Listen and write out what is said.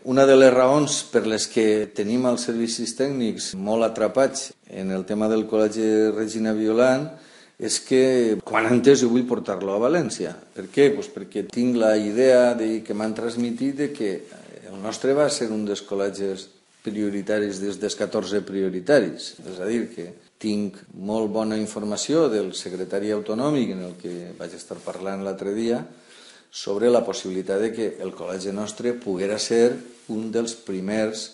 Una de les raons per les que tenim els servicis tècnics molt atrapats en el tema del Col·legi Regina Violant és que quan antes jo vull portar-lo a València. Per què? Perquè tinc la idea que m'han transmitit que el nostre va ser un dels col·legis prioritaris des dels 14 prioritaris. És a dir, que tinc molt bona informació del secretari autonòmic en el que vaig estar parlant l'altre dia sobre la possibilitat de que el col·legi nostre poguera ser un dels primers